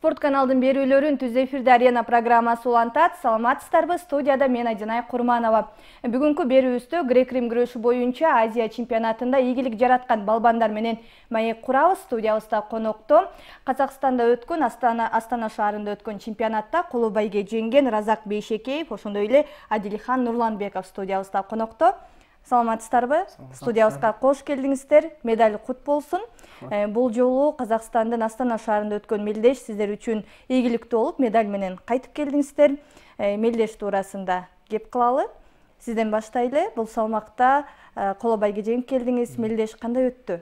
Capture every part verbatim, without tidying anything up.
Спорт каналдын берүүлөрүн Түз эфирде Арена программасы улантат. Саламатсыздарбы? Студияда мен Айжанай Курманова. Бүгүнкү берүүбүздө грек-рим күрөшү боюнча Азия чемпионатында ийгилик жараткан балбандар менен маек курабыз. Студиябызда конокто Казакстанда өткөн Астана Астана шаарында өткөн чемпионатта коло байге жеңген Разак Бейшекеев, ошондой эле Адилхан Нурланбеков студиябызда конокто. Саламатсыздарбы? Студиябызга кош келдиңиздер. Медаль кут болсун. Бул жолу Казакстандын Астана шаарында өткөн мелдеш сиздер үчүн ийгиликтүү болуп, медаль менен кайтып келдиңиздер. Мелдеш туурасында кеп кылалы. Сизден баштайлы. Бул салмакта коло байге жеңип келдиңиз. Мелдеш кандай өттү?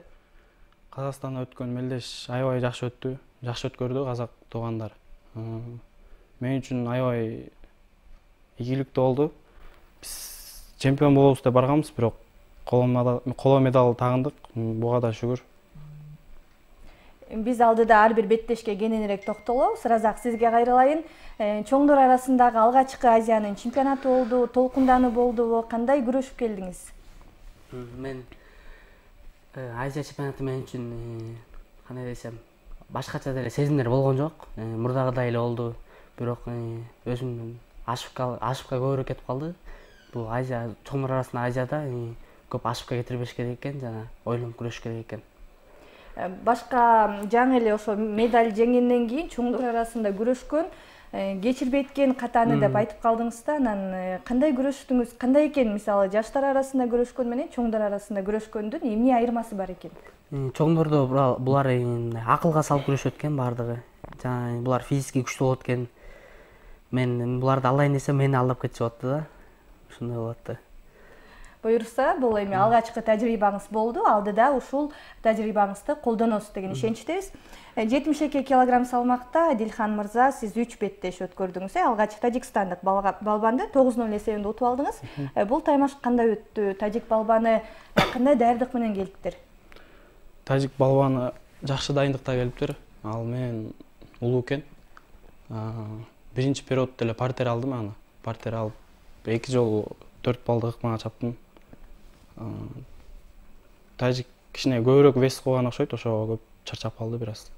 Казакстанда өткөн мелдеш аябай жакшы өттү. Жакшы өткөрдү казак туугандар. Мен үчүн аябай ийгиликтүү болду. Биз чемпион болобуз деп барганбыз, бирок коло медаль тагындык. Буга да шүгүр. Биз алдыда ар бир беттешке кененирээк токтолобуз. Разак, сизге кайрылайын. Чоңдор арасындагы алгачкы Азиянын чемпионаты болду, толкундануу болдубу? Кандай күрөшүп келдиңиз? Мен Азия чемпионаты мен үчүн кандай десем, башкача деле сезимдер болгон жок. Мурдагыдай эле болду, бирок өзүмдүн ошибка ошибка көбүрөөк кетип калды. Бул Азия чоңдор арасында Азияда көп ошибка кетирбеш керек экен, жана ойлонуп күрөш керек экен. Башка жаңы эле ошо медаль жеңгенден кийин чоңдор арасында күрөшкөн, кечирбей эткен катаны деп айтып калдыңыз да. Анан кандай күрөштүңүз? Кандай экен, мисалы жаштар арасында күрөшкөн менен чоңдор арасында күрөшкөндүн эмне айырмасы бар экен? Чоңдордо булар акылга салып күрөшөт экен бардыгы. Жана булар физически күчтүү болот экен. Мен буларды алдайын десем, мени алдап кетчү атты да. Ушундай болот да. Буюрса, бул эми алгачкы тажрыйбаңыз болду. Алдыда ушул тажрыйбаңызды колдоносуз деген ишеничтебиз. жетимиш эки килограмм салмакта Адилхан мырза, сиз үч беттеш өткөрдүңүз. Алгач тажикстандык балбанды тогуз ноль эсебинде утуп алдыңыз. Бул таймаш кандай өттү? Тажик балбаны кандай даярдык менен келиптир? Тажик балбаны жакшы дайындыкта келиптир. Ал менен улуу экен. Биринчи периоддо эле партер алдым аны. Партер алып эки жолу төрт балдык ыкмага чаптым. Тажик кичине көбүрөөк вес койгон окшойт, ошого көп чарчап калды бир аз.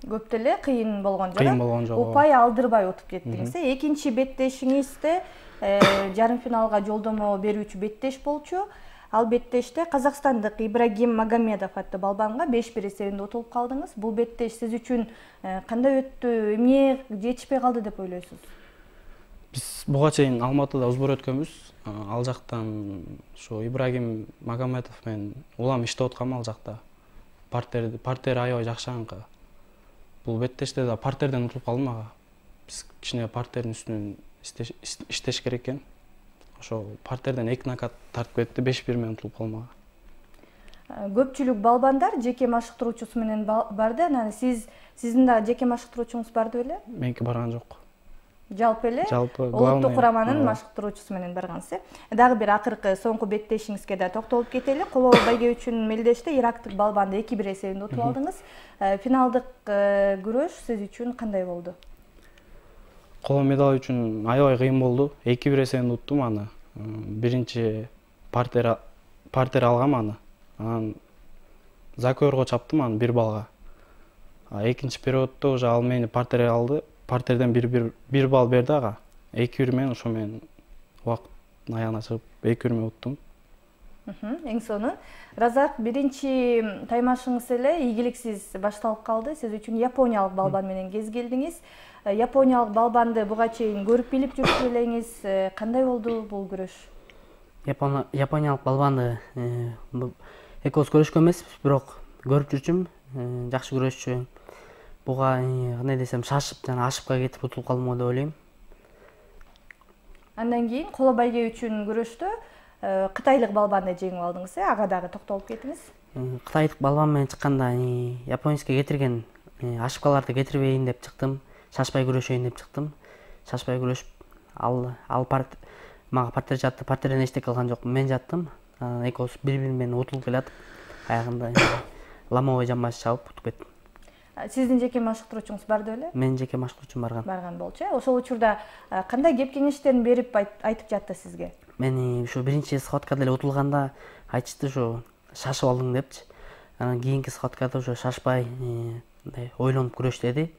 Көп деле кыйын болгон жок. Кыйын болгон жок. Упай алдырбай утуп кеттиңиз. Экинчи беттешиңизде жарым финалга жолдомо берүүчү беттеш болчу. Ал беттеште казакстандык Ибрагим Магомедов аттуу балбанга беш бир эсебинде утулуп калдыңыз. Бул беттеш сиз үчүн кандай өттү? Эмне жетишпей калды деп ойлойсуз? Биз буга чейин Алматыда узбур өткөнбүз. Ал жактан ошо Ибрагим Магомедов менен улам иштеп аткам ал жакта. Партер партер аябай жакшы анка. Бул беттеште да партерден утулуп калдым ага. Биз кичине партердин үстүнөн иштеш керек экен. Ошо партерден эки нокаут тартып кетти, беш бир менен утулуп калдым ага. Көпчүлүк балбандар жеке машыктыруучусу менен барды. Анан сиз сиздин да жеке машыктыруучуңуз барды беле? Меники барган жок. Жалпы эле улуттук кураманын машыктыруучусу менен баргансыз. Дагы бир акыркы соңку беттешиңизге да токтолуп кетели. Коло байге үчүн мелдеште ирактык балбанды эки бир эсебинде утуп алдыңыз. Финалдык күрөш сиз үчүн кандай болду? Коло медаль үчүн аябай кыйын болду. эки бир эсебинде уттум аны. Биринчи партер партер алгам аны. Анан закөргө чаптым аны бир балга. Экинчи периоддо уже ал мени партер алды. Партерден бир бир балл берди ага. эки бир менен ошо менен убакыттын аягына чыгып эки бир менен уттум. Эң сонун. Разак, биринчи таймашыңыз эле ийгиликсиз башталып калды. Сиз үчүн япониялык балбан менен кез келдиңиз. Япониялык балбанды буга чейин көрүп билип жүрүп элеңиз. Кандай болду бул күрөш? Япониялык балбанды экөөбүз көрүшкөн эмеспиз, бирок көрүп жүрчүм. Жакшы күрөшчү. Буга кандай десем, шашып жана ошибка кетип утулуп калдым деп ойлойм. Андан кийин коло байге үчүн күрөштө кытайлык балбанды жеңип алдыңыз, э? Ага дагы токтолуп кетиңиз. Кытайлык балбан менен чыкканда японецке кетирген ошибкаларды кетирбейин деп чыктым. Шашпай күрөшөйүн деп чыктым. Шашпай күрөшүп, ал ал парт мага партер жатты. Партерден эчтеке кылган жокмун. Мен жаттым. Экөөбүз бири-бири менен утулуп келатып, аягында ломовой жамбаш чабып утуп кеттим. Сиздин жеке машыктыруучуңуз барды беле? Менин жеке машыктыруучум барган. Барган болчу. Ошол учурда кандай кеп кеңештерин берип айтып жатты сизге? Мени ушу биринчи схваткада эле утулганда айтышты, ушу шашып алдың депчи. Анан кийинки схваткада ушу шашпай, мындай ойлонуп күрөш деди.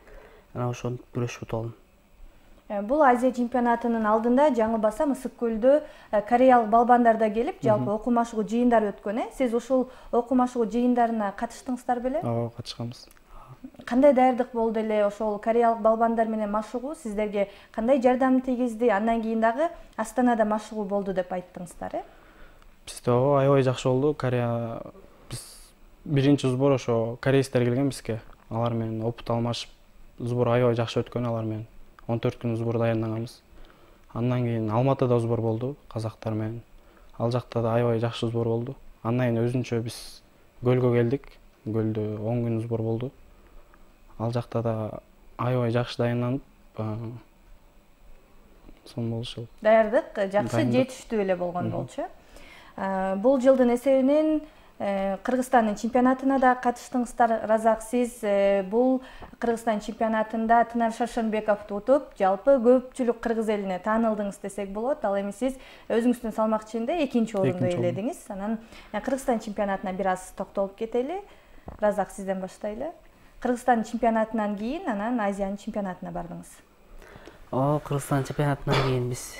анан ошентип күрөшүп утуп алдым. Бул Азия чемпионатынын алдында жаңылбасам Ысык көлдө кореялык балбандар да келип, жалпы окуу машыгуу жыйындар өткөн, э? Сиз ушул окуу машыгуу жыйындарына катыштыңыздар беле? Ооба, катышканбыз. Кандай даярдык болду эле ошол кореялык балбандар менен машыгуу сиздерге кандай жардам тийгизди? Андан кийин дагы Астанада машыгуу болду деп айттыңыздар, э? Бизде ооба аябай жакшы болду. Корея биз биринчи сбор ошо корейстер келген бизге. Алар менен опыт алмашып, сбор аябай жакшы өткөн алар менен. он төрт күн сбор даярданганбыз. Андан кийин Алматыда сбор болду казактар менен. Ал жакта да аябай жакшы сбор болду. Андан кийин өзүнчө биз Көлгө келдик. Көлдө он күн сбор болду. Ал жакта да аябай жакшы даярданып, сон болушу. Даярдык жакшы, жетиштүү эле болгон болчу. Бул жылдын эсебинен Кыргызстандын чемпионатына да катыштыңыздар. Разак, сиз бул Кыргызстан чемпионатында Тынар Шаршенбековду утуп, жалпы көпчүлүк кыргыз элине таанылдыңыз десек болот. Ал эми сиз өзүңүздүн салмак ичинде экинчи орунду ээледиңиз. Анан Кыргызстан чемпионатына бир аз токтолуп кетели. Разак, сизден баштайлы. Кыргызстан чемпионатынан кийин анан Азиянын чемпионатына бардыңыз. О, Кыргызстан чемпионатынан кийин биз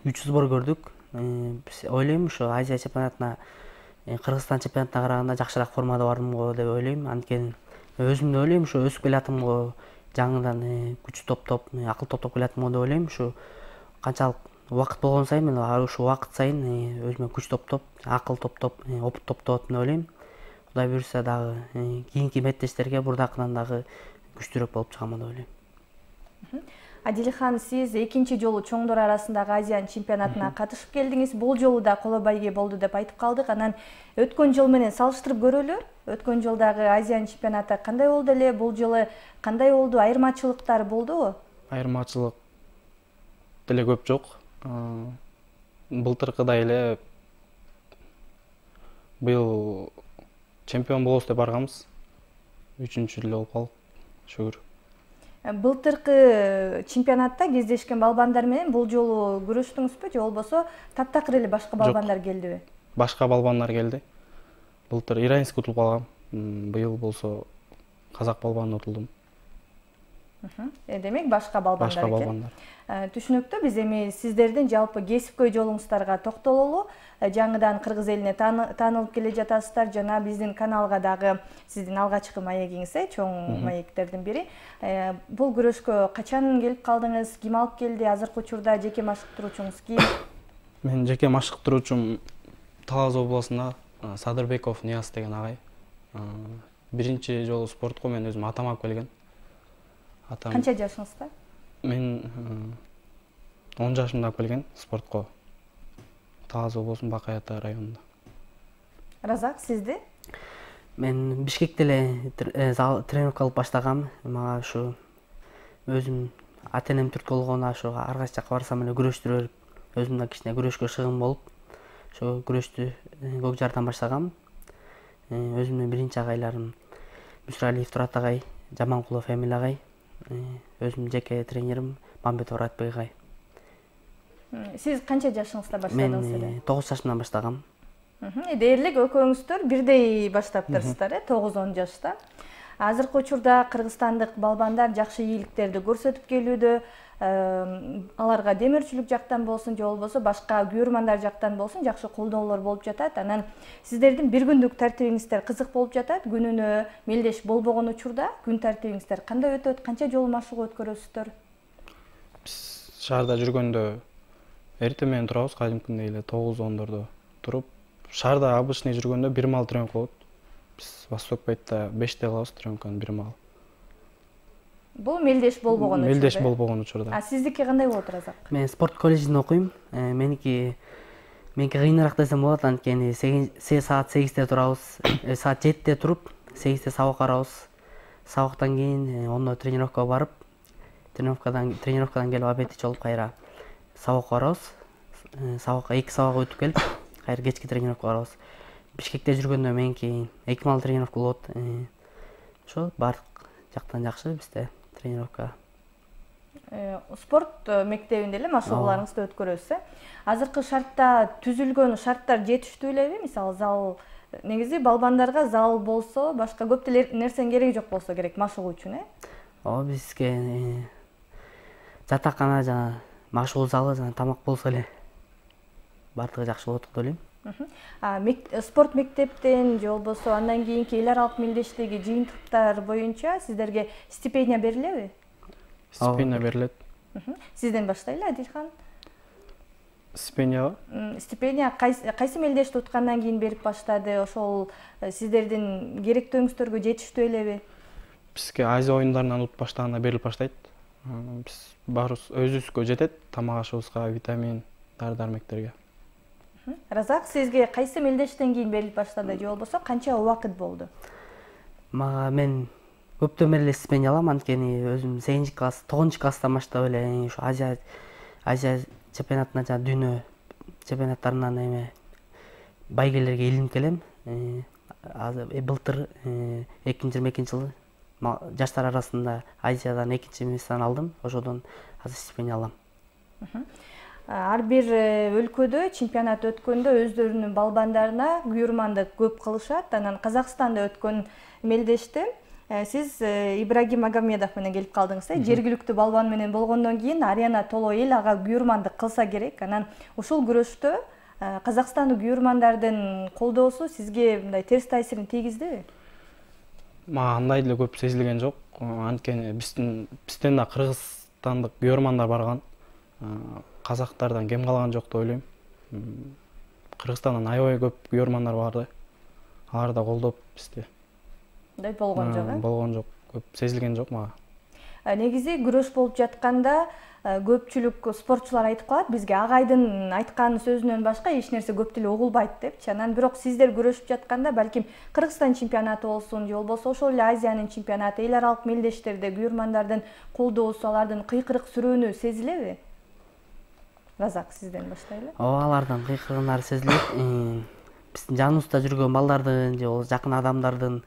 үч сбор көрдүк. Биз ойлойм ушу Азия чемпионатына Кыргызстан чемпионатына караганда жакшыраак формада бардым го деп ойлойм. Анткени өзүм да ойлойм ушу өсүп келатым го, жаңыдан күч топтоп, акыл топтоп келатым го деп ойлойм. Ушу канчалык убакыт болгон сайын мен ушу убакыт сайын өзүмө күч топтоп, акыл топтоп, опыт топтоп атам деп ойлойм. Кудай буйрса дагы кийинки меттештерге бурдакынан дагы күчтүүрөөк болуп чыгам деп ойлойм. Адилхан, сиз экинчи жолу чоңдор арасындагы Азиянын чемпионатына катышып келдиңиз. Бул жолу да коло байге болду деп айтып калдык. Анан өткөн жол менен салыштырып көрөлү. Өткөн жылдагы Азиянын чемпионаты кандай болду эле? Бул жылы кандай болду? Айырмачылыктар болдубу? Айырмачылык деле көп жок. Былтыркыдай эле быйыл чемпион болобуз деп барганбыз. Үчүнчү эле болуп калдык. Шүгүр. Былтыркы чемпионатта кездешкен балбандар менен бул жолу күрөштүңүзбү же болбосо таптакыр эле башка балбандар келдиби? Башка балбандар келди. Былтыр Ираинский утулуп калгам. Быйыл болсо казак балбанына утулдум. Демек башка балбандар экен. Башка балбандар. Түшүнүктүү. Биз эми сиздердин жалпы кесипкөй жолуңуздарга токтололу. Жаңыдан кыргыз элине таанылып келе жатасыздар. Жана биздин каналга дагы сиздин алгачкы маегиңиз, чоң маектердин бири. Бул күрөшкө качан келип калдыңыз? Ким алып келди? Азыркы учурда жеке машыктыруучуңуз ким? Мен жеке машыктыруучум Талас областында Садырбеков Нияз деген агай. Биринчи жолу спортко мен өзүм атам алып келген. Атам. Канча жашыңызда? Мен он жашымда алып келген спортко. Талас облусунун Бакай Ата районунда. Разак, сизди? Мен Бишкекте эле тренировка алып баштагам. Мага ушу өзүм ата-энем түрк болгон, ошо ар кайсы жакка барсам эле күрөштүрөр, өзүм да кичине күрөшкө шыгын болуп, ошо күрөштү көк жардан баштагам. Өзүмдүн биринчи агайларым Мүсүралиев Турат агай, Жаманкулов Эмил агай, өзүмдүн жеке тренерим Мамбетов Ратбек агай. Сиз канча жашыңызда баштадыңыз эле? Мен тогуз жашымдан баштагам. Дээрлик экөөңүздөр бирдей баштаптырсыздар, э, тогуз он жашта. Азыркы учурда кыргызстандык балбандар жакшы ийгиликтерди көрсөтүп келүүдө. Аларга демирчилик жактан болсун, же болбосо башка күйөрмандар жактан болсун жакшы колдоолор болуп жатат. Анан сиздердин бир күндүк тартибиңиздер кызык болуп жатат. Күнүнө мелдеш болбогон учурда күн тартибиңиздер кандай өтөт? Канча жолу машыгуу өткөрөсүздөр? Биз шаарда жүргөндө эртең менен турабыз, кадимкидей эле тогуз ондордо туруп, шаарда обычный жүргөндө бир маал тренировка болот. Биз Восток Байтта беште кылабыз тренировканы бир маал. Бул мелдеш болбогон учурда. Мелдеш болбогон учурда. А сиздики кандай болот, Разак? Мен спорт колледжинде окуйм. Меники меники кыйыныраак десем болот, анткени саат сегизде турабыз. Саат жетиде туруп, сегизде сабак барабыз. Сабактан кийин ондо тренировкага барып, тренировкадан тренировкадан келип обед ичип алып кайра сабакка барабыз. Сабакка эки сабак өтүп келип, кайра кечки тренировкага барабыз. Бишкекте жүргөндө меники эки маал тренировка болот. Ошо баардык жактан жакшы бизде тренировка. Спорт мектебинде эле машыгууларыңызды өткөрөсүз, э? Азыркы шартта түзүлгөн шарттар жетиштүү элеби? Мисалы, зал негизи балбандарга зал болсо, башка көп нерсенин кереги жок болсо керек машыгуу үчүн, э? ооба бизге жатакана жана машыгуу залы жана тамак болсо эле баардыгы жакшы болот деп ойлойм. Спорт мектептен же болбосо андан кийинки эл аралык мелдештеги жыйынтыктар боюнча сиздерге стипендия берилеби? Стипендия берилет. Сизден баштайлы, Адилхан. Стипендия? Стипендия кайсы мелдешти уткандан кийин берип баштады? Ошол сиздердин керектөөңүздөргө жетиштүү элеби? Бизге Азия оюндарынан утуп баштаганда берилип баштайт. Биз баарыбыз өзүбүзгө жетет, тамак ашыбызга, витамин, дары-дармектерге. Разак, сизге кайсы мелдештен кийин берилип баштады же болбосо канча убакыт болду? Мага мен көптөн бери эле стипендия алам, анткени өзүм сегизинчи класс, тогузунчу класстан баштап эле ушу Азия Азия чемпионатына жана дүйнө чемпионаттарынан эме байгелерге илинип келем. Былтыр эки миң жыйырма экинчи жылы жаштар арасында Азиядан экинчи месттен алдым, ошодон азыр стипендия алам. Ар бир өлкөдө чемпионат өткөндө өздөрүнүн балбандарына күйөрмандык көп кылышат. Анан Казакстанда өткөн мелдеште сиз Ибрагим Магомедов менен келип калдыңыз. Жергиликтүү балбан менен болгондон кийин арена толо эл ага күйөрмандык кылса керек. Анан ушул күрөштө Казакстандык күйөрмандардын колдоосу сизге мындай терс таасирин тийгиздиби? Мага андай деле көп сезилген жок. Анткени биздин бизден да кыргызстандык күйөрмандар барган. Казактардан кем калган жок деп ойлойм. Кыргызстандан аябай көп күйөрмандар барды. Алар да колдоп бизди. Мындай болгон жок, э? Болгон жок, көп сезилген жок мага. Негизи күрөш болуп жатканда көпчүлүк спортчулар айтып калат, бизге агайдын айткан сөзүнөн башка эч нерсе көп деле угулбайт депчи. Анан бирок сиздер күрөшүп жатканда балким Кыргызстан чемпионаты болсун, же болбосо ошол эле Азиянын чемпионаты, эл аралык мелдештерде күйөрмандардын колдоосу, алардын кыйкырык сүрөөнү сезилеби? Разак, сизден баштайлы. Ооба, алардын кыйкырыгындары сезилет. Биздин жаныбызда жүргөн балдардын же болбосо жакын адамдардын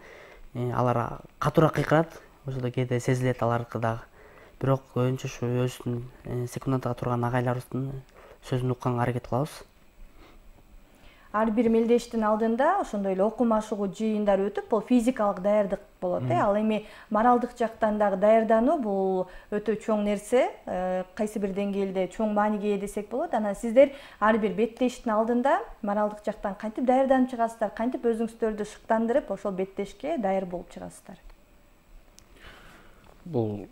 алар катуураак кыйкырат. Ошодо кээде сезилет алардыкы дагы. Бирок көбүнчө ушу өзүбүздүн секундага турган агайларыбыздын сөзүн укканга аракет кылабыз. Ар бир мелдештин алдында ошондой эле окуу машыгуу жыйындар өтүп, бул физикалык даярдык болот, э. Ал эми моралдык жактан дагы даярдануу бул өтө чоң нерсе, кайсы бир деңгээлде чоң мааниге ээ десек болот. Анан сиздер ар бир беттештин алдында моралдык жактан кантип даярданып чыгасыздар, кантип өзүңүздөрдү шыктандырып ошол беттешке даяр болуп чыгасыздар? Бул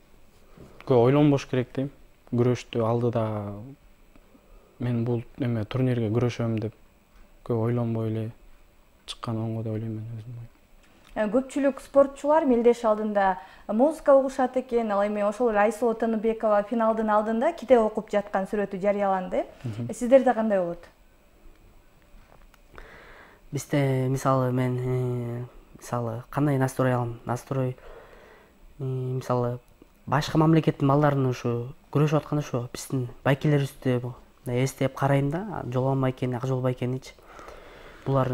көп ойлонбош керек дейм. Күрөштү алдыда мен бул эме турнирге күрөшөм деп көп ойлонбой эле чыккан оңго деп ойлойм мен өзүм. Көпчүлүк спортчулар мелдеш алдында музыка угушат экен. Ал эми ошол Айсулуу Тыныбекова финалдын алдында китеп окуп жаткан сүрөтү жарыяланды. Сиздерде кандай болот? Бизде мисалы мен мисалы кандай настрой алам? Настрой мисалы башка мамлекеттин балдарынын ушу күрөшүп атканда ушу биздин байкелерибизди эстеп карайм да, Жолон байкени, Акжол байкеничи. Булар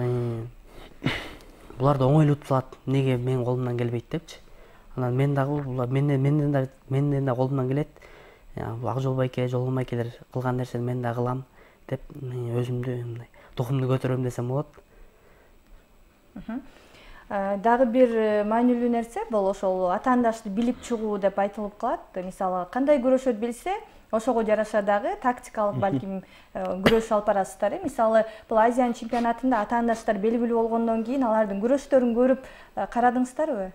буларды оңойлуу утуп алат. Неге менин колумдан келбейт депчи. Анан мен дагы булар менден менден да менден да колумдан келет. Акжол байке, Жолон байкелер кылган нерсени мен да кылам деп өзүмдү мындай духумду көтөрөм десем болот. Дагы бир маанилүү нерсе бул ошол атаандашты билип чыгуу деп айтылып калат. Мисалы, кандай күрөшөт билсе, ошого жараша дагы тактикалык балким күрөш алып барасыздар. Мисалы, бул Азиянын чемпионатында атаандаштар белгилүү болгондон кийин алардын күрөштөрүн көрүп карадыңыздарбы?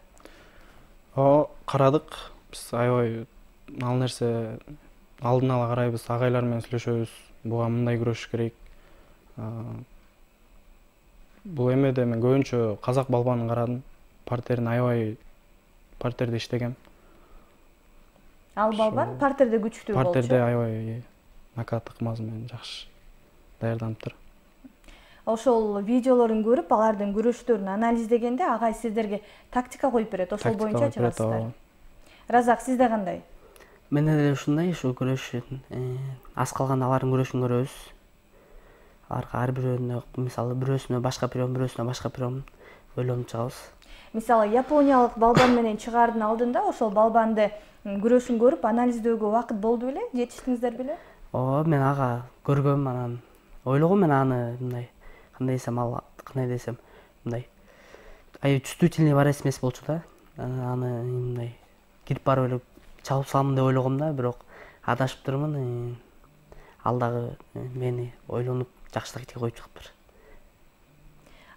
Ооба, карадык. Биз аябай ал нерсе алдын ала карайбыз, агайлар менен сүйлөшөбүз. Буга мындай күрөшүш керек. Бул эмеде мен көбүнчө казак балбанын карадым. Партерин аябай партерде иштегем. Ал балбан партерде күчтүү болчу. Партерде аябай накат ыкмасы менен жакшы даярданыптыр. Ошол видеолорун көрүп, алардын күрөштөрүн анализдегенде агай сиздерге тактика коюп берет, ошол боюнча чыгасыздар. Разак, сизде кандай? Менде деле ушундай, ушу күрөшүн аз калганда алардын күрөшүн көрөбүз. Аларга ар бирөөнө мисалы бирөөсүнө башка прием, бирөөсүнө башка прием ойлонуп чыгабыз. Мисалы, япониялык балбан менен чыгаардын алдында ошол балбанды күрөшүн көрүп анализдөөгө убакыт болду беле? Жетиштиңиздер беле? Ооба, мен ага көргөм, анан ойлогом мен аны мындай кандай десем ал кандай десем мындай аябай чувствительный барес эмес болчу да. Аны мындай кирип барып эле чабып саламын деп ойлогом да, бирок адашыптырмын. Ал дагы мени ойлонуп жакшыраак этке коюп чыгыптыр.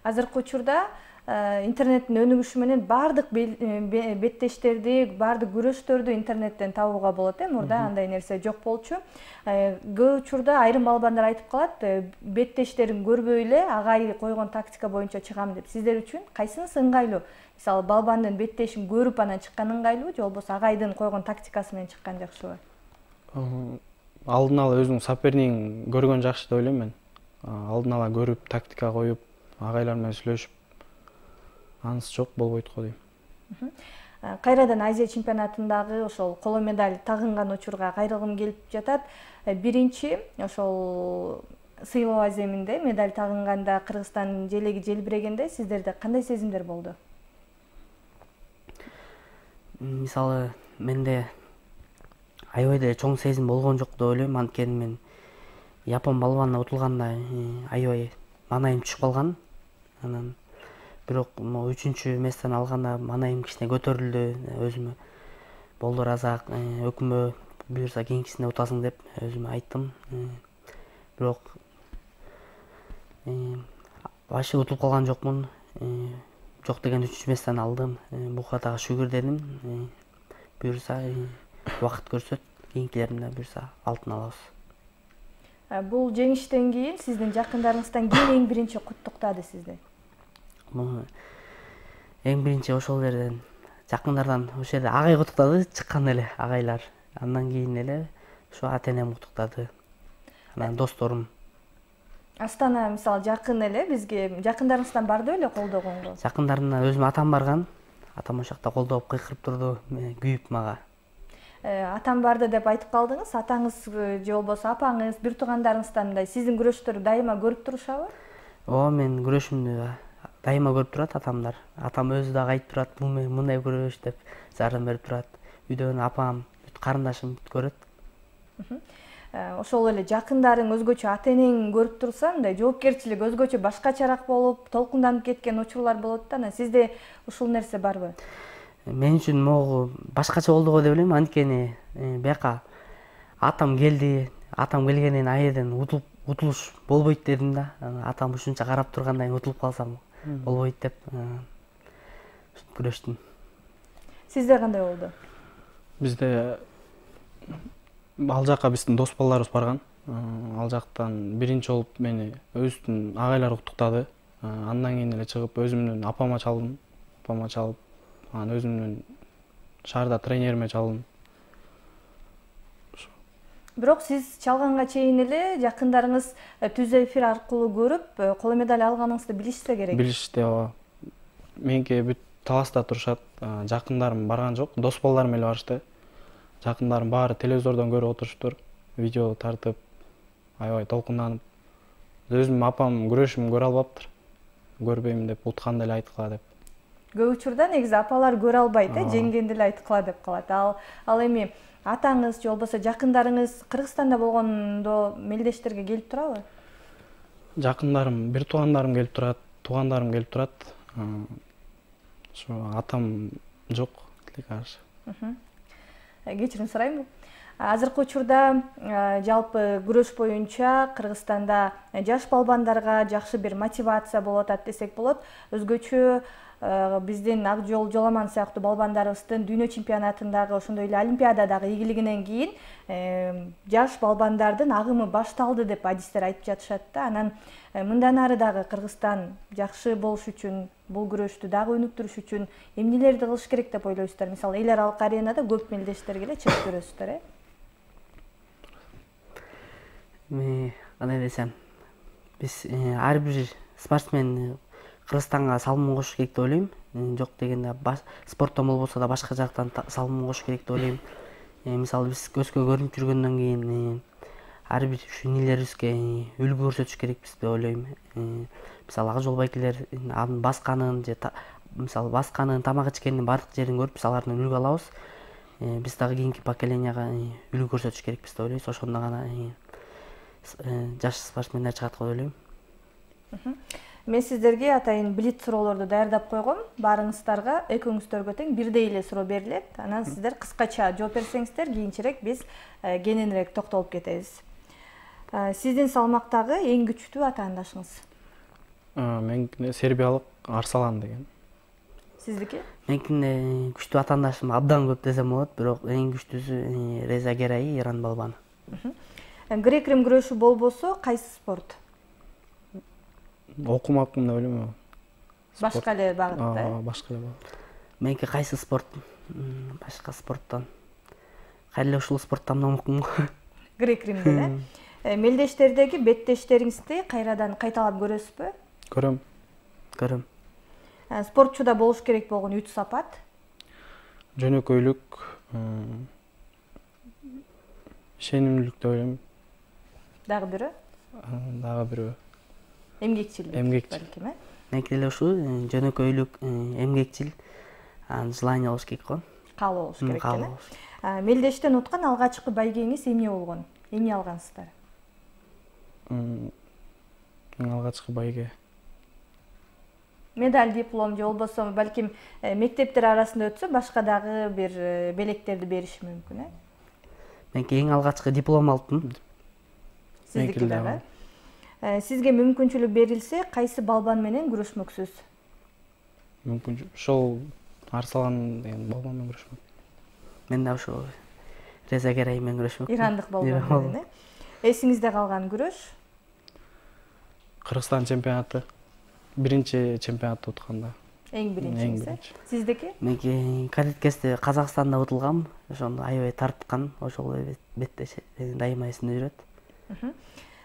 Азыркы учурда интернеттин өнүгүшү менен баардык беттештерди, баардык күрөштөрдү интернеттен табууга болот э. Мурда андай нерсе жок болчу. Көп учурда айрым балбандар айтып калат, беттештерин көрбөй эле агай койгон тактика боюнча чыгам деп. Сиздер үчүн кайсынысы ыңгайлуу? Мисалы, балбандын беттешин көрүп анан чыккан ыңгайлуубу, же болбосо агайдын койгон тактикасы менен чыккан жакшыбы? Алдын ала өзүң сопернигин көргөн жакшы деп ойлойм мен. Алдын ала көрүп, тактика коюп, агайлар менен сүйлөшүп, анысы жок болбойт го дейм. Кайрадан Азия чемпионатындагы ошол коло медаль тагынган учурга кайрылгым келип жатат. Биринчи ошол сыйлоо аземинде медаль тагынганда Кыргызстандын желеги желбирегенде сиздерде кандай сезимдер болду? Мисалы, менде аябай чоң сезим болгон жок деп ойлойм. Анткени мен Япон балбанына утулганда аябай маанайым түшүп калган. Анан бирок үчүнчү месттен алганда маанайым кичине көтөрүлдү. Өзүмө болду ыраазаак, өкүмбө буюрса кийинкисинде утасың деп өзүмө айттым. Бирок вообще утулуп калган жокмун. Жок деген үчүнчү месттен алдым. Буга дагы шүгүр дедим. Буюрса убакыт көрсөт, кийинкилеринде буюрса алтын алабыз. Бул жеңиштен кийин сиздин жакындарыңыздан ким эң биринчи куттуктады сизди? Эң биринчи ошол жерден жакындардан ошол жерде агай куттуктады, чыккан эле агайлар. Андан кийин эле ушу ата-энем куттуктады. Анан досторум. Астана мисалы жакын эле, бизге жакындарыңыздан барды беле колдогонго? Жакындарымдан өзүм атам барган. Атам ошол жакта колдоп кыйкырып турду, күйүп мага. Атам барды деп айтып калдыңыз. Атаңыз же болбосо апаңыз, бир туугандарыңыздан мындай сиздин күрөштөрдү дайыма көрүп турушабы? Ооба, мен күрөшүмдү дайыма көрүп турат атамдар. Атам өзү дагы айтып турат, бул мындай күрөш деп жардам берип турат. Үйдөн апам, карындашым көрөт. Ошол эле жакындарың өзгөчө ата-энең көрүп турса, мындай жоопкерчилик өзгөчө башкачараак болуп, толкунданып кеткен учурлар болот да. Сизде ушул нерсе барбы? Мен үчүн могу башкача болду го деп ойлойм. Анткени бияка атам келди, атам келгенен аерден утулуп утулуш болбойт дедим да. Атам ушунча карап тургандан кийин утулуп калсам болбойт деп күрөштүм. Сизде кандай болду? Бизде ал жака биздин дос балдарыбыз барган. Ал жактан биринчи болуп мени өзүнүн агайлары куттуктады. Андан кийин эле чыгып өзүмдүн апама чалдым. Апама чалып, анан өзүмдүн шаарда тренериме чалдым. Бирок сиз чалганга чейин эле жакындарыңыз түз эфир аркылуу көрүп, коло медаль алганыңызды билишсе керек. Билишти, ооба. Меники бүт таласта турушат. Жакындарым барган жок, дос балдарым эле барышты. Жакындарым баары телевизордон көрүп отуруштур, видео тартып, аябай толкунданып. Өзүм апам күрөшүмдү көрө албаптыр. Көрбөйм деп, утканда эле айткыла деп. Көп учурда негизи апалар көрө албайт, э, жеңгенди эле айткыла деп калат. Ал ал эми атаңыз же болбосо жакындарыңыз Кыргызстанда болгондо мелдештерге келип турабы? Жакындарым, бир туугандарым келип турат, туугандарым келип турат. Ошо атам жок, тилекке каршы. Кечирим сурайм. Азыркы учурда жалпы күрөш боюнча Кыргызстанда жаш балбандарга жакшы бир мотивация болуп атат десек болот. Өзгөчө биздин Акжол, Жоламан сыяктуу балбандарыбыздын дүйнө чемпионатындагы, ошондой эле Олимпиададагы ийгилигинен кийин жаш балбандардын агымы башталды деп адистер айтып жатышат да. Анан мындан ары дагы Кыргызстан жакшы болуш үчүн, бул күрөштү дагы өнүктүрүш үчүн эмнелерди кылыш керек деп ойлойсуздар? Мисалы, эл аралык аренада көп мелдештерге эле чыгып көрөсүздөр, э? Мен кандай десем, биз ар бир спортсмен Кыргызстанга салымын кошуш керек деп ойлойм. Жок дегенде спорттон болбосо да башка жактан салымын кошуш керек деп ойлойм. Мисалы, биз көзгө көрүнүп жүргөндөн кийин ар бир ушу инилерибизге үлгү көрсөтүш керекпиз деп ойлойм. Мисалы, Акжол байкелер анын басканын же мисалы басканын, тамак ичкенин бардык жерин көрүп, биз алардан үлгү алабыз. Биз дагы кийинки поколенияга үлгү көрсөтүш керекпиз деп ойлойбуз. Ошондо гана жаш спортсмендер чыгат го деп ойлойм. Мен сиздерге атайын блиц суроолорду даярдап койгом. Баарыңыздарга экөөңүздөргө тең бирдей эле суроо берилет. Анан сиздер кыскача жооп берсеңиздер, кийинчерээк биз кененирээк токтолуп кетебиз. Сиздин салмактагы эң күчтүү атаандашыңыз? Меникине сербиялык Арсалан деген. Сиздики? Меникине күчтүү атаандашым абдан көп десем болот, бирок эң күчтүүсү Реза Герай, Иран балбаны. Грек-рим күрөшү болбосо кайсы спорт? Окумакмын деп ойлойм. Башка эле багытта? Башка эле багыт. Меники кайсы спорт? Башка спорттон. Кайра эле ушул спорттан окумун. Грек-римден, э? Мелдештердеги беттештериңизди кайрадан кайталап көрөсүзбү? Көрөм. Көрөм. Спортчуда болуш керек болгон үч сапат? Жөнөкөйлүк, ишенимдүүлүк деп ойлойм. Дагы бирөө? Дагы бирөө. Эмгекчилдик. Эмгекчил. Меники деле ушул жөнөкөйлүк, эмгекчил, желание болуш керек го. Каалоо болуш керек экен. Мелдештен уткан алгачкы байгеңиз эмне болгон? Эмне алгансыздар? Эң алгачкы байге медаль, диплом же болбосо балким мектептер арасында өтсө башка дагы бир белектерди бериши мүмкүн, э? Меники эң алгачкы диплом алдым. Сиздики дагы? Сизге мүмкүнчүлүк берилсе, кайсы балбан менен күрөшмөксүз? Мүмкүнчүлүк ошол Арсалан деген балбан менен күрөшмөк. Мен да ошол Реза Герай менен күрөшмөк. Ирандык балбан менен, э? Эсиңизде калган күрөш? Кыргызстан чемпионаты. Биринчи чемпионатты утканда. Эң биринчиси. Сиздики? Меники кадеткесте Казакстанда утулгам, ошондо аябай тарткан, ошол бетте дайыма эсимде жүрөт.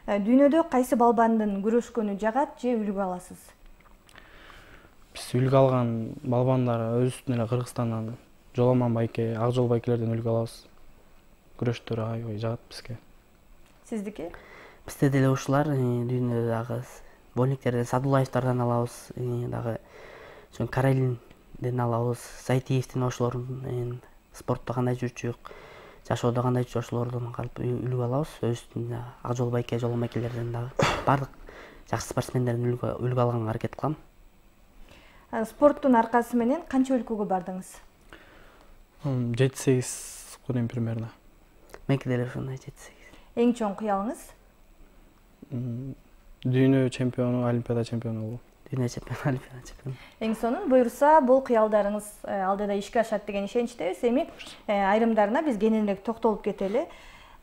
Дүйнөдө кайсы балбандын күрөшкөнү жагат же үлгү аласыз? Биз үлгү алган балбандар өзүбүздүн эле Кыргызстандан Жоламан байке, Акжол байкелерден үлгү алабыз. Күрөштөрү аябай жагат бизге. Сиздики? Бизде деле ушулар дүйнөдө дагы Больниктерден Садулаевдардан алабыз, дагы ошо Карелинден алабыз, Зайтиевдин ошолордун спортто кандай жүрчү, жашоодо кандай жүрчү ошолордон калып үлгү алабыз. Өзүбүздүн Акжол байке, Жолон байкелерден дагы бардык жакшы спортсмендерден үлгү алганга аракет кылам. Спорттун аркасы менен канча өлкөгө бардыңыз? жети сегиз кудем примерно. Меники деле ошондой жети сегиз. Эң чоң кыялыңыз? Дүйнө чемпиону, Олимпиада чемпиону болуу. Дүйнө чемпиону, Олимпиада чемпиону. Эң сонун буюрса, бул кыялдарыңыз алдыда ишке ашат деген ишеничтебиз. Эми айрымдарына биз кененирээк токтолуп кетели.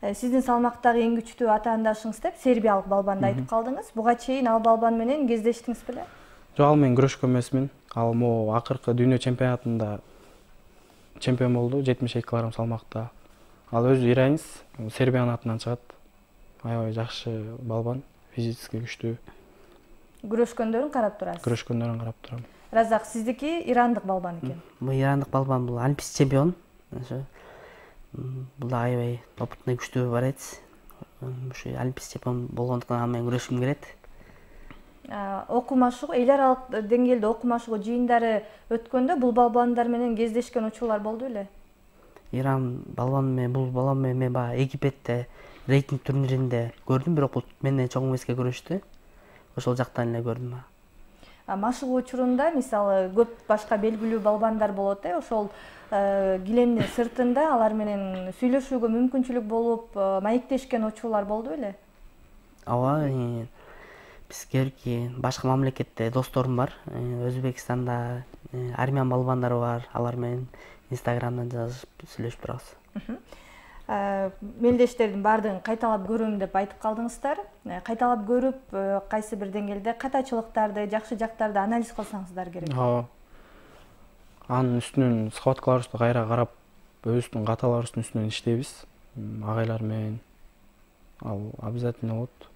Сиздин салмактагы эң күчтүү атаандашыңыз деп сербиялык балбанды айтып калдыңыз. Буга чейин ал балбан менен кездештиңиз беле? Жок, ал менен күрөшкөн эмесмин. Ал могу акыркы дүйнө чемпионатында чемпион болду, жетимиш эки килограмм салмакта. Ал өзү иранец, Сербиянын атынан чыгат. Аябай жакшы балбан, физически күчтүү. Күрөшкөндөрүн карап турасыз? Күрөшкөндөрүн карап турам. Разак, сиздики ирандык балбан экен. Бул ирандык балбан, бул олимпийский чемпион. Ошо бул да аябай опытный күчтүү борец. Ушу олимпийский чемпион болгондуктан ал менен күрөшкүм келет. Окуу эл аралык деңгээлде окуу машыгуу жыйындары өткөндө бул балбандар менен кездешкен учурлар болду беле? Иран балбан менен, бул балбан менен мен баягы Египетте рейтинг турниринде көрдүм, бирок бул менден чоң эмеске күрөштү. Ошол жактан эле көрдүм. Машыгуу учурунда мисалы көп башка белгилүү балбандар болот, э? Ошол килемдин сыртында алар менен сүйлөшүүгө мүмкүнчүлүк болуп, маектешкен учурлар болду беле? Ооба, бизге башка мамлекетте досторум бар. Өзбекстанда армян балбандары бар. Алар менен Инстаграмдан жазышып сүйлөшүп турабыз. Мелдештердин баардыгын кайталап көрөм деп айтып калдыңыздар. Кайталап көрүп, кайсы бир деңгээлде катачылыктарды, жакшы жактарды анализ кылсаңыздар керек. Ооба. Анын үстүнөн схваткаларыбызды кайра карап, өзүбүздүн каталарыбыздын үстүнөн иштейбиз. Агайлар менен. Ал обязательно болот.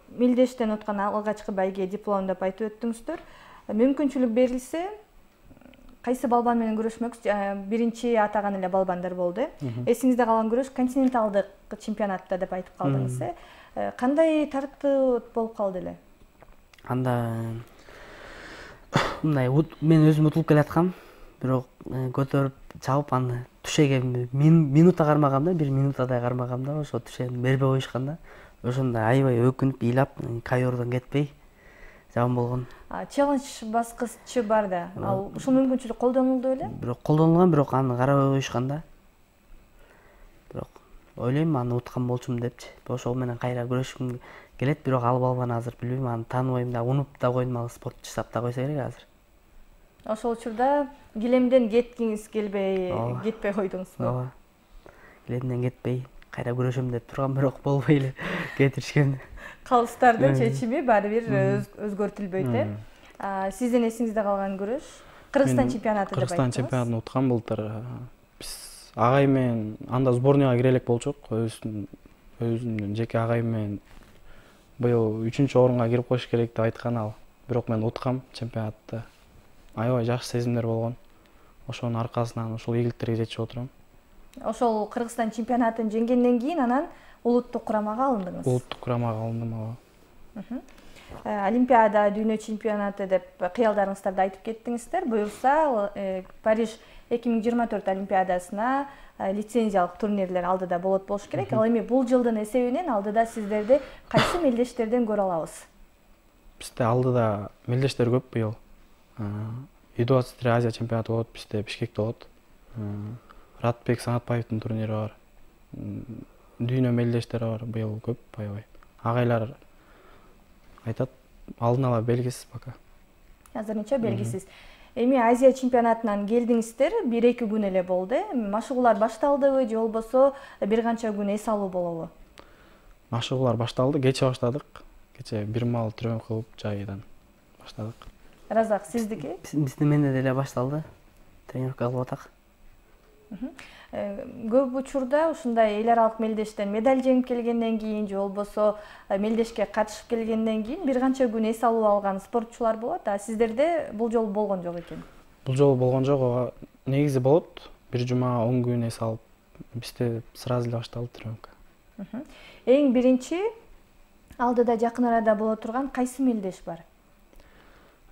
Мелдештен уткан алгачкы байге диплом деп айтып өттүңүздөр. Мүмкүнчүлүк берилсе, кайсы балбан менен күрөшмөксүз? Биринчи атаган эле балбандар болду. Эсиңизде калган күрөш континенталдык чемпионатта деп айтып калдыңыз, э? Кандай тартып болуп калды эле? Анда мындай мен өзүм утулуп келаткам, бирок көтөрүп чабып аны түшеге минута кармагам да, бир минутадай кармагам да, ошо түшени бербей коюшкан да. ошондо аябай өкүнүп ыйлап ковёрдон кетпей жаман болгон. Челлендж баскычы бар да. Ал ушул мүмкүнчүлүк колдонулду беле? Бирок колдонулган, бирок аны карабай коюшкан да. Бирок ойлойм аны уткан болчумун депчи. Ошол менен кайра күрөшкүм келет, бирок алып албаны азыр билбейм, аны тааныбайм да, унуп да койдум, ал спортчу сап да койсо керек азыр. Ошол учурда килемден кеткиңиз келбей, кетпей койдуңузбу? Ооба. Килемден кетпей, кайра күрөшөм деп тургам, бирок болбой эле кетиришкен. Калыстардын чечими баары бир өзгөртүлбөйт, э? Сиздин эсиңизде калган күрөш Кыргызстан чемпионаты деп айттыңыз. Кыргызстан чемпионатын уткан былтыр. Биз агайым менен анда сборныйга кире элек болчук, өзүнүн өзүнүн жеке агайым менен быйыл үчүнчү орунга кирип коюш керек деп айткан ал. Бирок мен уткам чемпионатты. Аябай жакшы сезимдер болгон. Ошонун аркасынан ушул ийгиликтерге жетип отурам. Ошол Кыргызстан чемпионатын жеңгенден кийин анан улуттук курамага алындыңыз. Улуттук курамага алындым, ооба. Олимпиада, дүйнө чемпионаты деп кыялдарыңыздарды айтып кеттиңиздер. Буюрса, Париж эки миң жыйырма төрт олимпиадасына лицензиялык турнирлер алдыда болот болуш керек. Ал эми бул жылдын эсебинен алдыда сиздерди кайсы мелдештерден көрө алабыз? Бизде алдыда мелдештер көп быйыл. ю двадцать три Азия чемпионаты болот, бизде Бишкекте болот. Ратбек Санатбаевдин турнири бар. Дүйнө мелдештери бар, быйыл көп аябай. Агайлар айтат, алдын ала белгисиз пока. Азырынча белгисиз. Эми Азия чемпионатынан келдиңиздер, бир эки күн эле болду. Машыгуулар башталдыбы же болбосо бир канча күн эс алуу болобу? Машыгуулар башталды, кече баштадык. Кече бир маал тренировка кылып жайдан баштадык. Разак, сиздики? Биздин менде деле башталды. Тренировка кылып атак. Көп учурда ушундай эл аралык мелдештен медаль жеңип келгенден кийин же болбосо мелдешке катышып келгенден кийин бир канча күн эс алуу алган спортчулар болот. А сиздерде бул жолу болгон жок экен? Бул жолу болгон жок, ооба. Негизи болот. Бир жума он күн эс алып, бизде сразу эле башталды тренировка. Эң биринчи алдыда жакын арада боло турган кайсы мелдеш бар?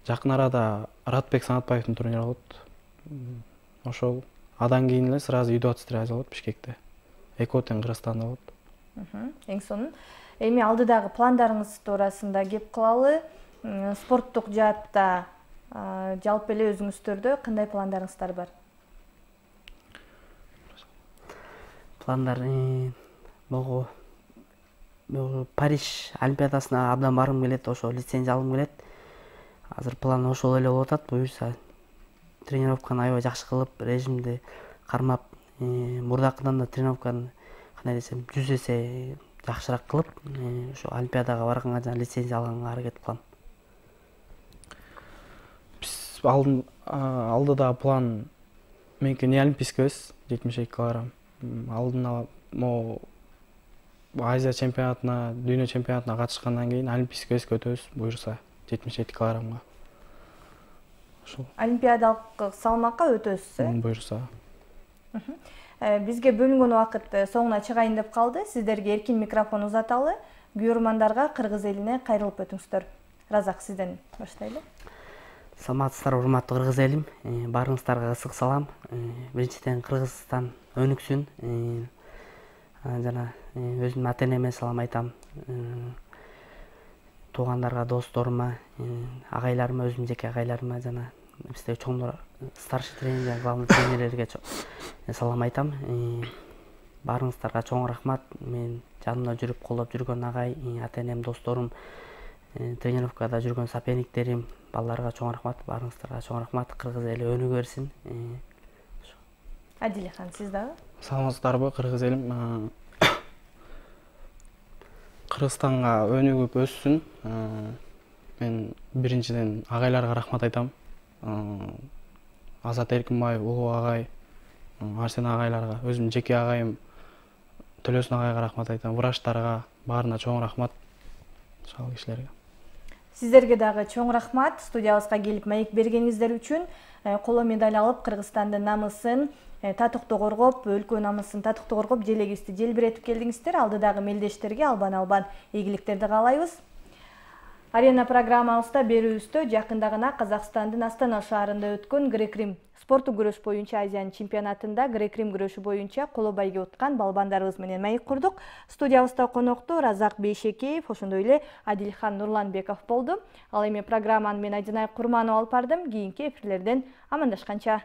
Жакын арада Ратбек Санатбаевдин турнири болот. Ошол. Адан кийин эле сразу ю двадцать три Азия болот Бишкекте. Экотен Кыргызстанда болот. Эң сонун. Эми алдыдагы пландарыңыз туурасында кеп кылалы. Спорттук жаатта жалпы эле өзүңүздөрдө кандай пландарыңыздар бар? Пландар могу Париж олимпиадасына абдан баргым келет, ошо лицензия алгым келет. Азыр план ошол эле болуп атат. Буюрса тренировканы аябай жакшы кылып, режимди кармап, мурдакыдан да тренировканы кандай десем, жүз эсе жакшыраак кылып, ошо олимпиадага барганга жана лицензия алганга аракет кылам. Биз алдыда план меники не олимпийский вес жетимиш эки килограмм. Алдын ала могу Азия чемпионатына, дүйнө чемпионатына катышкандан кийин олимпийский веске өтөбүз, буюрса жетимиш эки килограммга. Олимпиадалык салмакка өтөсүз, э? Буюрса. Бизге бөлүнгөн убакыт соңуна чыгайын деп калды. Сиздерге эркин микрофон узаталы. Күйөрмандарга кыргыз элине кайрылып өтүңүздөр. Разак, сизден баштайлы. Саламатсыздар, урматтуу кыргыз элим. Баарыңыздарга ысык салам. Биринчиден Кыргызстан өнүксүн. Жана өзүмдүн ата-энеме салам айтам. Туугандарга, досторума, агайларыма, өзүмдүн жеке агайларыма жана бизде чоңдор, старший тренер жана главный тренерлерге салам айтам. Баарыңыздарга чоң рахмат. Мен жанымда жүрүп колдоп жүргөн агай, ата-энем, досторум, тренировкада жүргөн соперниктерим, балдарга чоң рахмат. Баарыңыздарга чоң рахмат. Кыргыз эли өнүгө берсин. Адилхан, сиз дагы? Саламатсыздарбы, кыргыз элим? Кыргызстанга өнүгүп өссүн. Мен биринчиден агайларга рахмат айтам. Азат Эркинбаев, Улуу агай, Арсен агайларга, өзүмдүн жеке агайым Төлөсүн агайга рахмат айтам. Врачтарга баарына чоң рахмат. Ошол кишилерге. Сиздерге дагы чоң рахмат. Студиябызга келип маек бергениңиздер үчүн. Коло медаль алып, Кыргызстандын намысын татыктуу коргоп, өлкө намысын татыктуу коргоп, желегибизди желбиретип келдиңиздер. Алдыдагы мелдештерге албан-албан ийгиликтерди каалайбыз. Арена программабызда берүүбүздө жакында гана Казакстандын Астана шаарында өткөн грек-рим спорттук күрөш боюнча Азиянын чемпионатында грек-рим күрөшү боюнча коло байге уткан балбандарыбыз менен маек курдук. Студиябызда конокто Разак Бейшекеев, ошондой эле Адилхан Нурланбеков болду. Ал эми программаны мен Айдынай Курманова алып бардым. Кийинки эфирлерден амандашканча.